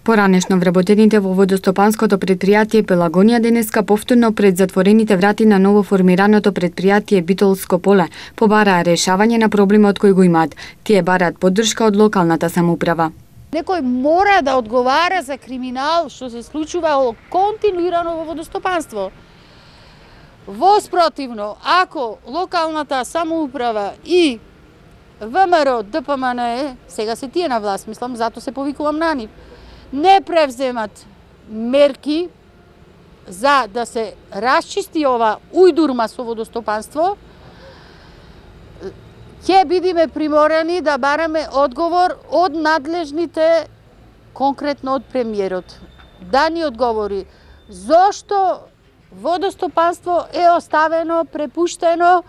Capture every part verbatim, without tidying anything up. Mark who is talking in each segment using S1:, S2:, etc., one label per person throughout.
S1: Поранешно вработените во водостопанското предпријатие Пелагонија денеска повторно пред затворените врати на новоформираното предпријатие Битолско поле побараа решавање на проблемот кој го имаат. Тие бараат поддршка од локалната самоуправа.
S2: Некој мора да одговара за криминал што се случува континуирано во водостопанство. Воспротивно, ако локалната самоуправа и ВМРО, ДПМНЕ, сега се тие на власт, мислам, зато се повикувам на нив, не превземат мерки за да се расчисти ова ујдурма со водостопанство, ќе бидеме приморани да бараме одговор од надлежните, конкретно од премиерот. Да ни одговори зошто водостопанство е оставено, препуштено,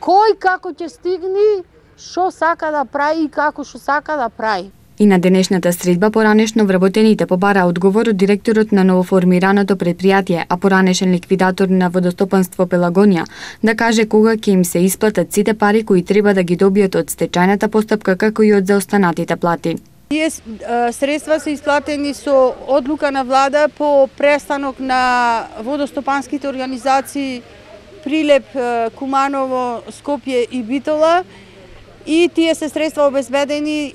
S2: кој како ќе стигне, што сака да прави и како што сака да прави.
S1: И на денешната средба поранешно вработените побара одговор од директорот на новоформираното предпријатие, а поранешен ликвидатор на водостопанство Пелагонија, да каже кога ќе им се исплатат сите пари кои треба да ги добијат од стечајната постапка, како и од заостанатите плати.
S2: Тие средства се исплатени со одлука на влада по престанок на водостопанските организации Прилеп, Куманово, Скопје и Битола, и тие се средства обезбедени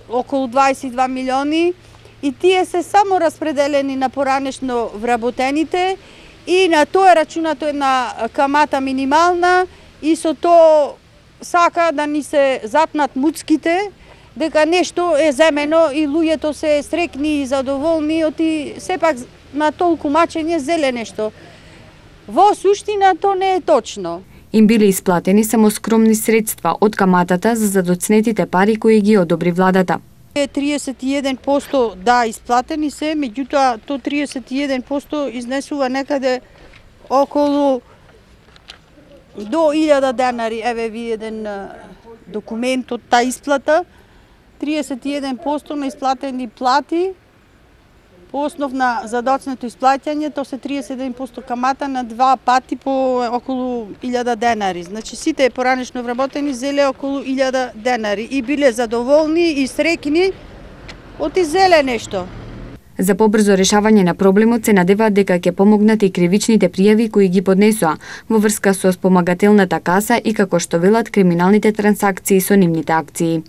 S2: околу дваесет и два милиони, и тие се само распределени на поранешно вработените и на тоа е рачунато една камата минимална, и со тоа сака да ни се запнат муцките дека нешто е земено и луѓето се срекни и задоволни, оти сепак на толку мачење зеле нешто. Во суштина тоа не е точно.
S1: Им биле исплатени само скромни средства од каматата за задоцнетите пари кои ги одобри владата.
S2: триесет и еден проценти да исплатени се, меѓутоа то триесет и еден проценти изнесува некаде околу до илјада денари. Еве ви еден документ од таа исплата. триесет и еден проценти на исплатени плати по основ на задоцнето исплаќање, то се триесет и еден проценти камата на два пати по околу илјада денари. Значи сите поранешно вработени зеле околу илјада денари и биле задоволни и срекни од зеле нешто.
S1: За побрзо решавање на проблемот се надеваат дека ќе помогнат и кривичните пријави кои ги поднесоа во врска со спомагателната каса и, како што велат, криминалните трансакции со нивните акции.